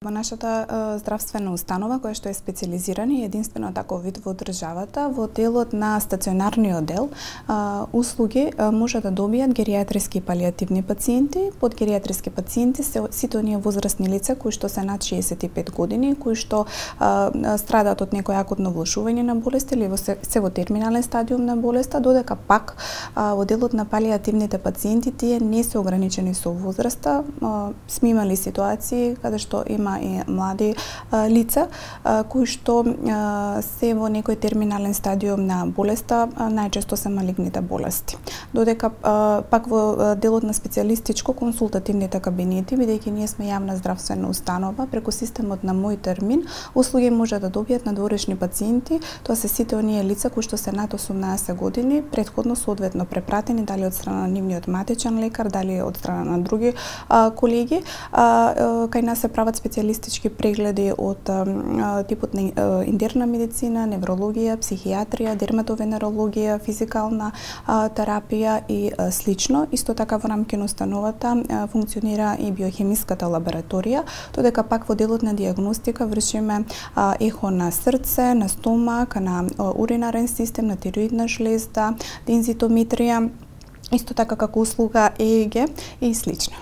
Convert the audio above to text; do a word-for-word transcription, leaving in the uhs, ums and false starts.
Во нашата е, здравствена установа, која што е специализирана и единствено таков вид во државата, во делот на стационарниот дел, е, услуги е, може да добијат геријатриски и палијативни пациенти. Под геријатриски пациенти се сите оние возрастни лица кои што се над шеесет и пет години, кои што е, страдаат од некој акутно влошување на болест или во се, се во терминален стадиум на болеста, додека пак е, во делот на палијативните пациенти тие не се ограничени со возраста. Е, сме имали ситуации каде што има и млади а, лица а, кои што а, се во некој терминален стадиум на болеста, а, најчесто се малигните болести. Додека а, пак во делот на специјалистичко консултативните кабинети, бидејќи ние сме јавна здравствена установа, преку системот на Мој термин, услуги може да добијат надворешни пациенти, тоа се сите оние лица кои што се над осумнаесет години, претходно соодветно препратени дали од страна на нивниот матичен лекар, дали од страна на други а, колеги. А, кај нас се прават специјалистички прегледи од а, типот на а, интерна медицина, неврологија, психијатрија, дерматовенерологија, физикална а, терапија и а, слично. Исто така во рамки на установата а, функционира и биохемиската лабораторија, додека пак во делот на дијагностика вршиме а, ехо на срце, на стомак, на а, уринарен систем, на тироидна жлезда, дензитометрија, исто така како услуга Е Е Ге и слично.